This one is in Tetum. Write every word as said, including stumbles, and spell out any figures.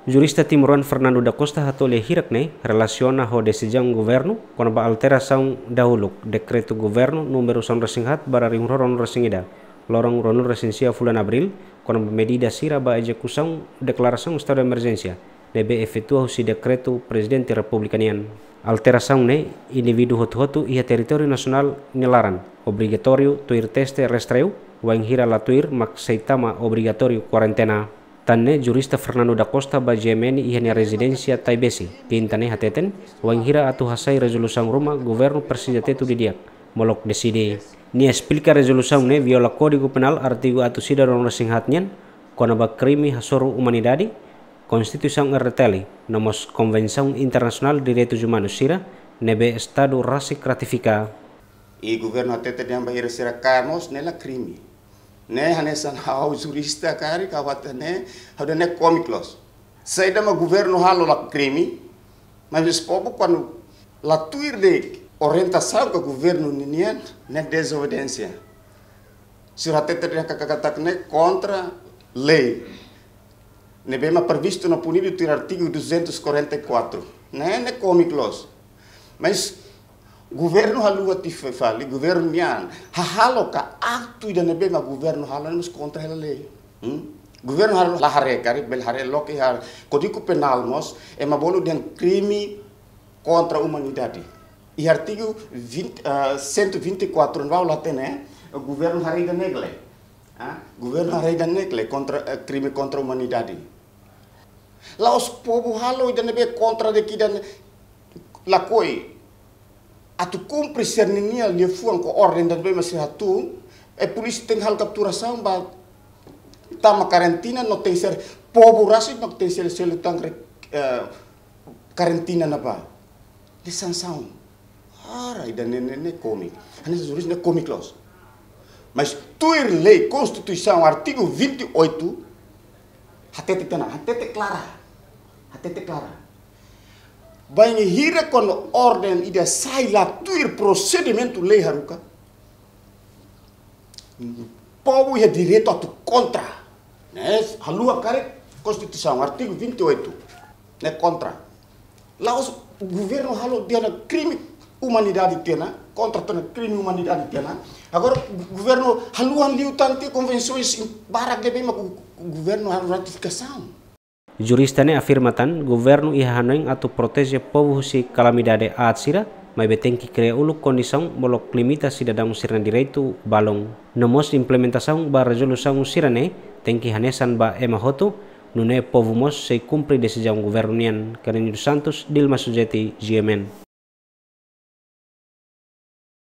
Jurista timoroan Fernando da Costa hato'o lia hirak ne'e relasiona ho desizaun governu kona-ba alterasaun dahuluk dekretu governu númeru sanulu-resin-haat barra rihun rua ruanulu-resin-ida, loron ruanulu-resin-sia fulan Abríl, kona-ba medida sira ba ezekusaun deklarasaun estadu de emerjénsia ne'ebé efetua husi dekretu Prezidente Repúblika nian. Alterasaun ne'e, indivíduu hotu-hotu iha territóriu nasionál nia laran obrigatóriu tuir teste rastreu, wainhira la tuir mak sei tama obrigatóriu kuarentena. Tan ne'e jurista Fernando da Costa ba G M N iha nia rezidénsia Taibesi, Kinta ne'e hateten, wainhira atu hasai rezolusaun ruma governu presiza tetu didi'ak, molok deside. Nia esplika rezolusaun ne'e viola Kódigu Penál artigu atus ida ruanulu-resin-haat nian, kona-ba krime hasoru umanidade, Konstituisaun R T L, no mós Konvensaun Internasionál Direitus Umanus sira, ne'ebé estadu rasik ratifika. I governu hatete dehan ba ira sira kaer mós ne'e la krime. Ne'e hanesan ha'u jurista karik ha'u hatene, ha'u dehan ne'e kómiku loos. Saida mak governu halo la krime, mas povu kuandu la tuir de'it orientasaun ka governu ninian, ne'e dezobediénsia. Sira hatete dehan katak ne'e kontra lei ne'ebé mak previstu no punidu tuir artigu duzentos e quarenta e quatro. Ne'e, ne'e kómiku loos. Mas governu haluha tiha fali, governu nian hahalo ka aktu ida ne'ebé mak governu halo ne'e mós kontra hela lei. Hmm? Governu halo la haree karik, bele haree loke iha Kódigu Penál mós, ema bolu dehan krime kontra umanidade. Iha artigu vinte, ah, cento e vinte e quatro ne'ebá la hatene, governu haree ida-ne'e ka lae. Ah, governu haree ida-ne'e ka lae kontra, eh, krime kontra umanidade. La'ós povu halo ida ne'ebé kontra de'it ida-ne'e lakohi. Atu kumpre sira-nia liafuan ka orden ida ne'ebé mak sira hatun, eh, polísia tenke halo kapturasaun ba tama karantina no tenke ser povu rasik mak tenke ser selu tan, eh, karantina ne'ebá. Ne'e sansaun. Ora, ida-ne'e, ne'e, ne'e kómiku. Hanesan jurista ne'e kómiku loos. Mas tuir lei Konstituisaun artigu vinte e oito, hatete tiha ona, hatete klara. Hatete klara. Bainhira kuandu orden ida sai la tuir prosedimentu lei haruka, povu iha direitu atu kontra. Ne'e, haluha karik Konstituisaun, artigu vinte e oito. Ne'e kontra. La'ós governu halo dehan ona krime umanidade tiha ona, kontra tiha ona, krime umanidade tiha ona. Agora, go-, governu haluha liután tiha konvensoens barak ne'ebé mak go-, governu halo ratifikasaun. Jurista ne'e afirma tan, governu iha hanoin atu proteje povu husi kalamidade aat sira, maibé tenke kria uluk kondisaun molok limita sidadaun sira-nia direitu balun. No mós implementasaun ba rezolusaun sira-ne'e tenke hanesan ba ema hotu, nune'e povu mós sei kumpre desizaun governu nian. Carlinhos dos Santos, Dilma Sujeti, G M N.